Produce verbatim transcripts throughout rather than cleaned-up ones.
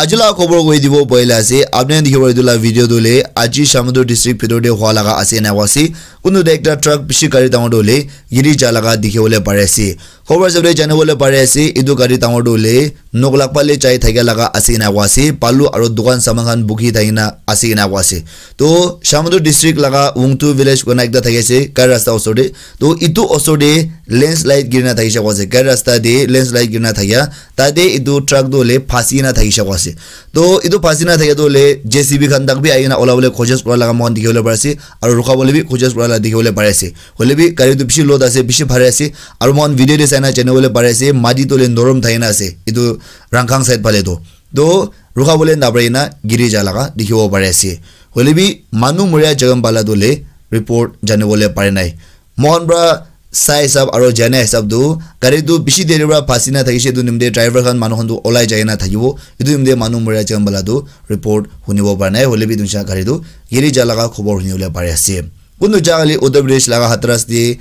Aji la khobor koi dibo boile ase, apni khan dikhibo etu la video tu le, aji Shamator district bhitor te hua laga ase ena koa ase. Kunu te ekta truck bishi gari dangor tu le, giri ja laga dikhiwole pare ase. Khobor sabab te janibole pare ase, etu gari dangor tu le, Noklak phale jai thakia laga ase ena koa ase, balu aro dukan saman khan bukhi thakina ase ena koa ase. To, Shamator district laga Wungtu village kona ekta thaki ase, ghar rasta osor te. To, etu osor te landslide girina thakishe koa ase, ghar rasta te landslide girina thakia, tate etu truck tu le phasi na thakishe koa ase. To, etu phasi na thakia tu le J C B khan tak bi ahi kena olabole kojis kura laga moikhan dikhiwole pare ase, aro rukhabole bi kojis kura laga dikhiwole pare ase. Hoile bi gari tu bishi load ase, bishi bhari ase. Aro moikhan video te saina janibole pare ase, mati tu le norom thakina ase. Etu Rangkhang side phale tu. To, rukhabole napare na giri ja laga dikhibo pare ase. Hoile bi manu muria jaga pala tu le report janibole pare nai. Moikhan pra sai hisab aro jana hisab tu gari tu bishi deri pra phasi na thakishe, etu nimite driver khan manu khan tu olai jai na thakibo. Etu nimite manu muria jaga pala tu report hunibo pare nai. Hoile bi etu nisha gari tu giri ja laga khobor hunibole pare ase. Kunu jaga le Uttar Pradesh laga Hathras te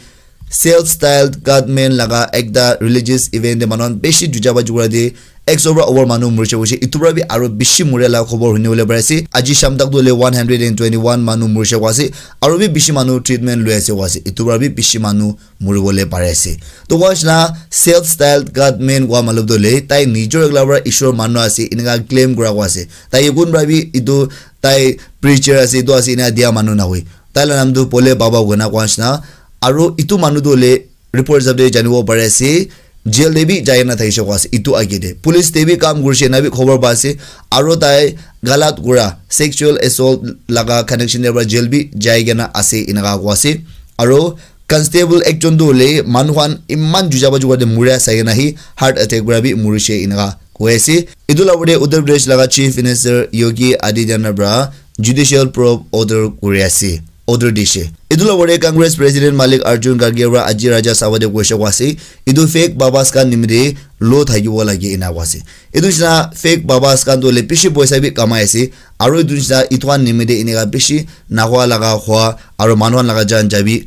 self styled gunmen laga ekta religious event te manu khan bishi juja ba jukura te ekso pra over manu murishe koishe. Etu pra bi aro bishi muria laga khobor hunibole pare ase. Aji sham tak tu hoile one hundred and twenty-one manu murishe koa ase. Aro bi bishi manu treatment loi ase koa ase. Etu pra bi bishi manu muribole pare ase. To koa nishina self styled gunmen koa matlab tu hoile tai nijor ekla pra Ishwar manu ase enika claim kura koa ase. Tai kun pra bi etu tai preacher ase, etu ase ena dia manu nahoi. Tai la naam tu Bhole Baba koina koa nishina. Aro etu manu tu hoile report hisab te janibo pare ase, jail te bi jai na thakishe koa ase. Etu age te police te bi kam kurishe na bi khobor pa ase. Aro tai galat kura sexual assault laga connection te pra jail bi jai kena ase enika koa ase. Aro constable ekjon tu hoile manu khan eman juja ba jukura te muria sai kena hi heart attack pra bi murishe enika koi ase. Etu la opor te Uttar Pradesh laga Chief Minister Yogi Adityanath pra judicial probe order kuri ase, order dishe. Etu la opor te Congress President Mallikarjun Kharge pra aji Rajya Sabha te koishe koa ase, etu fake babas khan nimite low thakibo lage ena koa ase. Etu nishina fake babas khan tu hoile bishi poisa bi kamai ase, aro etu nishina etu khan nimite enika bishi nahua laga hua aro manu khan laga jan jabi.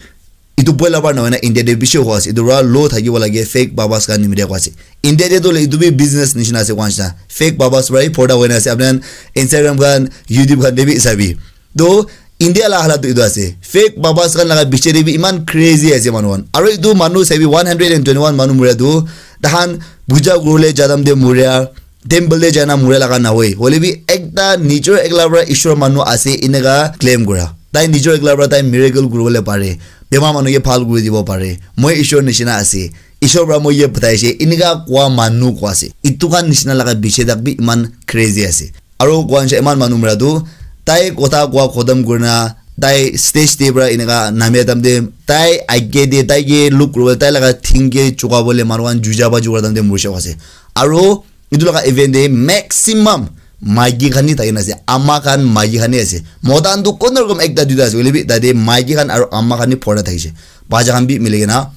Etu poila para nohoi na India te bishi hua ase. Etu para low thakibo lage fake babas khan nimite koa ase. India te toh etu bi business nishina ase koa nishina. Fake babas para hi photo hoi na ase. Apni khan Instagram khan, YouTube khan te bi sabi. Toh India la halat toh etu ase. Fake babas khan laga biche te bi iman crazy ase manu khan. Aru etu manu sabi one hundred and twenty one manu muria tu tahan puja kuribole ja time te muria. Temple te jaina mura laga nahoi. Hoile bi ekta nijor ekla para Ishwar manu ase eneka claim kura. Tai nijor ekla para tai miracle kuribole pare. Bemar manu ke bhal kuri dibo pare. Moi Ishwar nishina ase. Ishwar para moi ye bataise. Eneka koa manu koa ase. Etu khan nishina laga biche tak bi iman crazy ase. Aru koa nishina iman manu mura tu tai kotha koa khotom kurina tai stage te para eneka namia time te tai age te tai ke look kuribole tai laga thing ke chukabole manu khan juja ba jukar time te murishe koa ase. Aru Etu laga event te maximum maiki khan hi thaki na ase, ama khan maiki khan hi ase. Mota khan tu kono rokom ekta duita ase, hoile bi tate maiki khan aru ama khan hi phorta thakishe. Bacha khan bi mili kena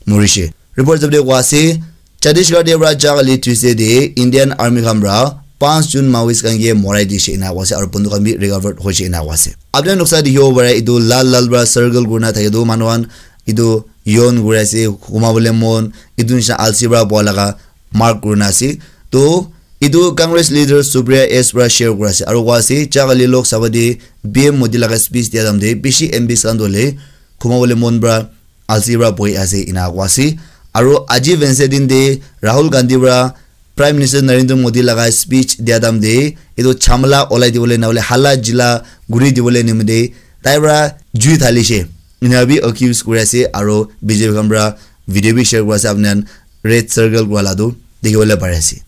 murishe. Report hisab te koa ase, Chhattisgarh te para ja kali Tuesday te Indian Army khan para panch jon Maoist khan ke morai dishe ena koa ase aru banduk khan bi recovered hoishe ena koa ase. Apni khan noksa dikhibo pare etu lal lal para circle kurina thake tu manu khan etu yon kuri ase, humabole mon, etu nisina alsi para boha laga mark kurina ase. To etu Congress leader Supriya S para share kuri ase aru koa ase ja kali Lok Sabha te P M Modi laga speech dia time te bishi M Ps khan tu hoile khumabole mon para alsi para bohi ase ena koa ase. Aru aji Wednesday din te Rahul Gandhi para Prime Minister Narendra Modi laga speech dia time te etu chamla olai dibole na hoile hala jila guri dibole nimite tai para jui dhalishe ena bi accuse kuri ase aru B J P khan para video bi share kuri ase apni khan red circle kura la tu dikhi bole pari ase.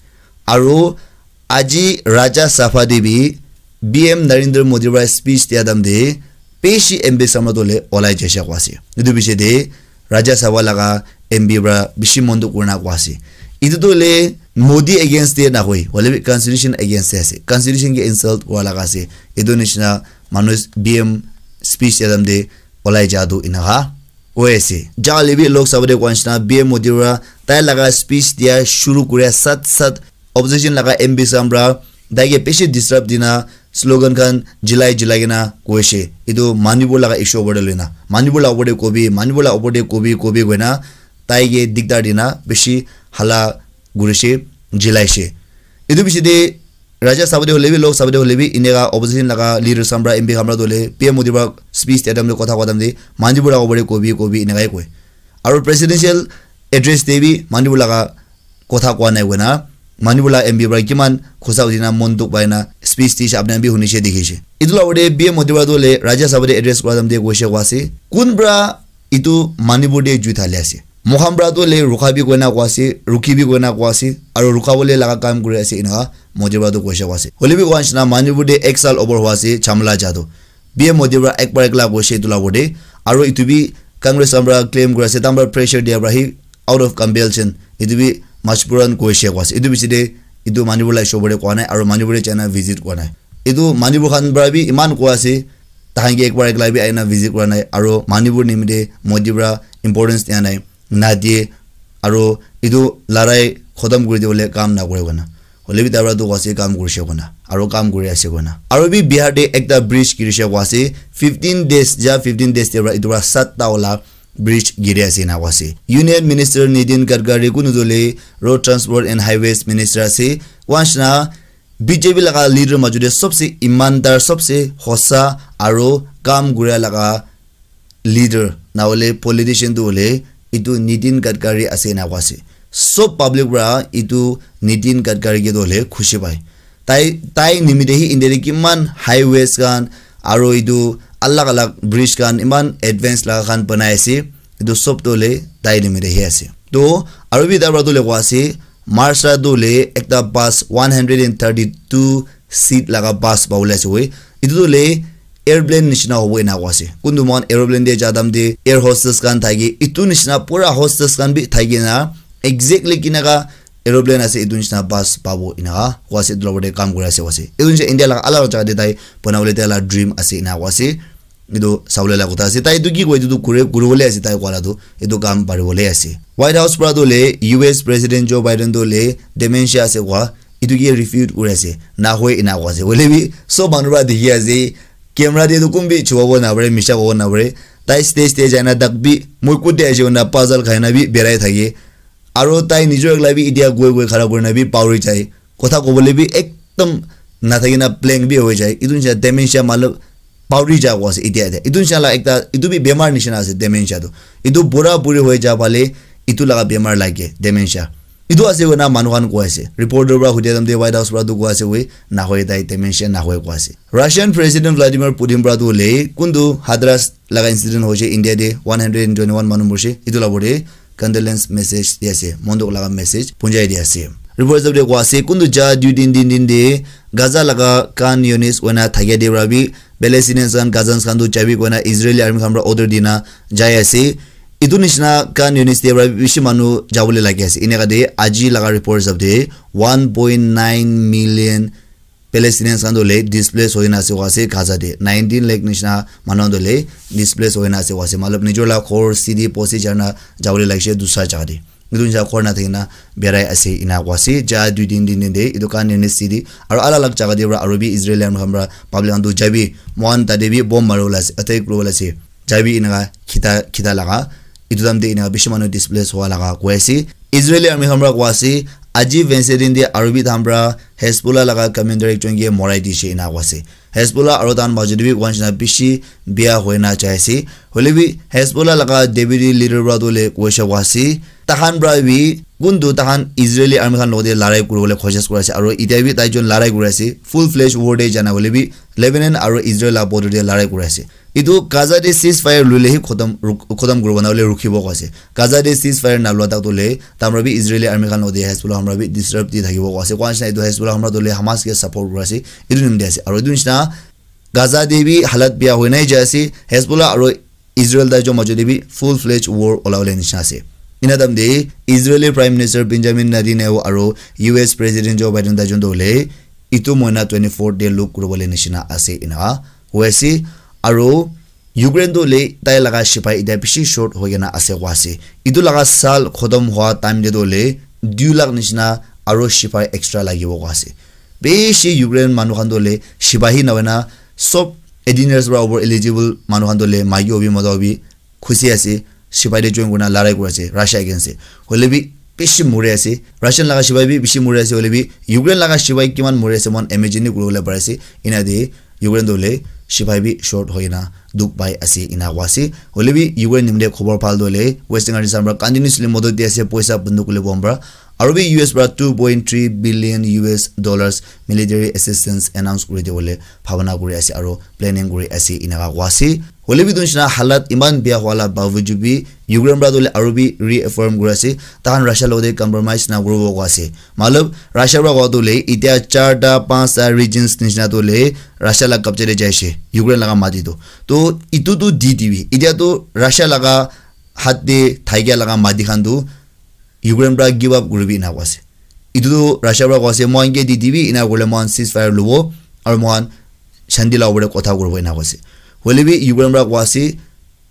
Aru aji Rajya Sabha te bi P M Narendra Modi para speech dia time te bishi M P samra tu hoile olai jaise koa ase. Etu piche te Rajya Sabha laga M P para bishi mon dukh kurina koa ase. Etu tu hoile Modi against te nahoi, hoile bi constitution against te ase. Constitution ke insult kura laga ase. Etu nishina manu P M speech dia time te olai ja tu enaka koi ase. Ja hoile bi Lok Sabha te koa nishina P M Modi para tai laga speech dia shuru kuria sat sat opposition laga M P samra tai ke bishi disturb dina slogan khan jilai jilai kena koishe. Etu manibo laga issue opor te loina. Manibo laga opor te kobi, manibo laga opor te kobi, kobi koina tai ke diktar dina bishi hala kurishe, jilaishe. Etu piche te Rajya Sabha te hoile bi, Lok Sabha te hoile bi, eneka opposition laga leaders khan pra, M P khan pra tu hoile P M Modi pra speech dia time te kotha kowa time te Manipur laga opor te kobi kobi eneka he koi. Aru presidential address te bi Manipur laga kotha kowa nai koina Manipur la M P pra kiman khusa uthi na mon dukh pai na speech dishe apni khan bi hunishe dikhishe. Etu la opor te P M Modi pra tu hoile Rajya Sabha te address kura time te koishe kowa ase, kun pra etu Manipur te jui thali ase. Moikhan pra tu hoile rukha bi koina kowa ase, rukhi bi koina kowa ase, aru rukha bole laga kam kuri ase eneka Modi pra tu koishe kowa ase. Hoile bi kowa nishina Manipur te ek saal opor howa ase jhamela ja tu. P M Modi pra ek bar ekla koishe etu la opor te. Aru etu bi Congress khan pra claim kuri ase, tahan pra pressure dia pra hi out of compulsion. Etu bi majburan koishe kowa ase. Etu bishi te etu Manipur la issue opor te kowa nai, aru Manipur te jaina visit kowa nai. Etu Manipur khan pra bi iman kowa ase, tahan ke ek bar ekla bi aina visit kura nai, aru Manipur nimite Modi pra importance dia nai, na die, aru etu larai khotom kuri dibole kam na kure koina. Hoile bi tai pra tu kowa ase kam kurishe koina, aru kam kuri ase koina. Aru bi Bihar te ekta bridge girishe kowa ase, fifteen days, ja fifteen days te pra etu pra satta wala bridge giri ase ena kowa ase. Union Minister Nitin Gadkari kunu tu hoile Road Transport and Highways Minister ase. Kowa nishina B J P laga leader majo te sobse imandar, sobse hosa aru kam kuria laga leader na hoile politician tu hoile etu Nitin Gadkari ase ena kowa ase. Sob public pra etu Nitin Gadkari ke tu hoile khushi pai. Tai, tai nimite hi India te kiman highways khan aru etu alag alag bridge khan iman advance laga khan banai ase. Etu sob tu hoile tai nimite hi ase. To aru bi tai pra tu hoile kowa ase, Maharashtra tu hoile ekta bus one hundred and thirty-two seat laga bus pabole ase koi. Etu tu hoile airplane nishina hobo ena kowa ase. Kuntu moikhan aeroplane te ja time te air hostess khan thake, etu nishina pura hostess khan bi thaki na exactly kineka aeroplane ase etu nishina bus pabo eneka kowa ase. Etu la opor te kam kuri ase kowa ase. Etu nishina India laga alag alag jaga te tai banabole tai la dream ase eneka kowa ase. Etu sabole la kotha ase. Tai etu ki koi, etu tu kure, kuribole ase tai kowa la tu. Etu kam paribole ase. White House pra tu hoile U S President Joe Biden tu hoile dementia ase kowa, etu ke refute kuri ase. Na hoi ena kowa ase. Hoile bi sob manu pra dikhi ase. Camera te tu kun bi chubabo na pare, misha kobo na pare. Tai stage te jaina dak bi moi kut te aise koina puzzle khai na bi berai thake. Aru tai nijor ekla bi etia goi goi khara kurina bi pauri jai. Kotha kobole bi ekdom nathaki na blank bi hoi jai. Etu nishina dementia matlab pauri ja kowa ase etia, etia. Etu nishina la ekta, etu bi bemar nishina ase dementia tu. Etu bura buri hoi ja phale etu laga bemar lage dementia. Etu ase koina manu khan koi ase. Reporter pra hudia time te White House pra tu koi ase koi, na hoi tai dementia na hoi koi ase. Russian President Vladimir Putin pra tu hoile kuntu Hathras laga incident hoise India te one hundred and twenty-one manu morise. Etu la opor te condolence message di ase, mon dukh laga message punjai di ase. Report hisab te kowa ase, kuntu ja dui din, tin din te Gaza laga Khan Younis hoina thakia te para bi Palestinians khan, Gazans khan tu jabi koina Israeli army khan para order dina jai ase. Etu nishina Khan Younis te para bishi manu jabole lagi ase. Eneka te aji laga report hisab te one point nine million Palestinians khan tu hoile displace hoina ase koa ase Gaza te. Nineteen lakh nishina manu khan tu hoile displace hoina ase koa ase. Matlab, nijor la ghor, city, bosti jana jabole lagise dusra jaga te. Etu nisina ghor nathakina berai ase ena koa ase. Ja dui tin, tin din te etu Khan Younis city aru alag alag jaga te para aru bi Israeli army khan para public khan tu jabi, moikhan tate bi bomb maribole ase, attack kuribole ase. Jabi eneka khita, khita laga. Etu time te eneka bishi manu displace howa laga koi ase. Israeli army khan para koi ase, aji Wednesday din te aru bi tahan para Hezbollah laga commander ekjon ke morai dishe ena koi ase. Hezbollah aru tahan majot te bi koi nishina bishi bia hoina jai ase. Hoile bi Hezbollah laga deputy leader para tu hoile koi sha koi ase. Tahan para bi kuntu tahan Israeli army khan logote larai kuribole koshish kuri ase. Aru itya bi tai jon larai kuri ase. Full fledged war te jana hoile bi Lebanon aru Israel la border te larai kuri ase. Etu Gaza te ceasefire luile hi khotom, ruk-, khotom kuribo na hoile rukhibo koi ase. Gaza te ceasefire nalua tak tu hoile, tamra bi Israeli army khan logote Hezbollah hamra bi disrupt di thakibo koi ase. Koi nishina etu Hezbollah hamra tu hoile Hamas ke support kuri ase. Etu nimite ase. Aru etu nishina Gaza te bi halat bia hoina jai ase. Hezbollah aru Israel tai jon majot te bi full fledged war olabole nishina ase. Ena time te Israeli Prime Minister Benjamin Netanyahu aru U S President Joe Biden tai jon tu hoile etu mohina twenty four te look kuribole nishina ase ena koi ase. Aru Ukraine tu hoile tai laga sipai itya bishi short hoi kena ase koi ase. Etu laga saal khotom howa time te tu hoile dui lakh nishina aru sipai extra lagibo koi ase. Bishi Ukraine manu khan tu hoile sipahi na hoina sob eighteen years para over eligible manu khan tu hoile maiki hobi mota hobi khushi ase. Sipai te join kurina larai kuri ase Russia against te. Hoile bi bishi muri ase. Russian laga sipai bi bishi muri ase, hoile bi Ukraine laga sipai kiman muri ase, moikhan imagine ni kuribole pari ase. Ena de Ukraine toh hoile sipai bi short hoina dukh pai ase, ena koa ase. Hoile bi Ukraine nimite khobor bhal toh hoile Western countries khan para continuously modot di ase, poisa banduk hoile bom para. Aru bi U S para two point three billion U S dollars military assistance announce kuri dibole bhabana kuri ase aru planning kuri ase, enaka koa ase. Hoile bi etu nishina halat iman bia howa la bawajud bi Ukraine para toh hoile aru bi reaffirm kuri ase, tahan Russia logote compromise na kuribo koa ase. Matlab, Russia para koa toh hoile, itia charta, panchta regions nishina toh hoile, Russia la kabja te jai ase, Ukraine laga mati toh. Toh, etu toh di dibi. Itia toh Russia laga hat te thaikia laga mati khan toh Ukraine para give up kuribi ena koa ase. Etu toh Russia para koa ase, moikhan ke di dibi, ena kurle moikhan ceasefire lobo, aru moikhan shanti la opor te kotha kuribo ena koa ase. Hoile bi Ukraine para koa ase,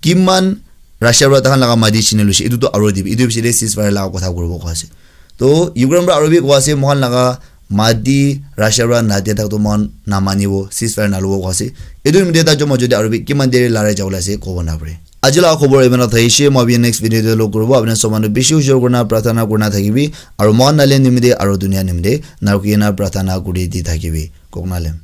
kiman Russia para tahan laga mati chini luise, etu toh aru dibi, etu bishi te ceasefire laga kotha kuribo koa ase. Toh Ukraine para aru bi koa ase, moikhan laga mati Russia para nadia tak toh moikhan namanibo, ceasefire nalobo koa ase. Etu nimite tai joma jodi aru bi kiman deri larai jabole ase, kobo napare. Aji laga khobor iman thakise, moi bi next video te log kuribo. Apni sob manu bishi ujor kurna prarthana kurna thakibi, aru moikhan Nagaland nimite aru dunia nimite narukina prarthana kuri di thakibi. Koknalem.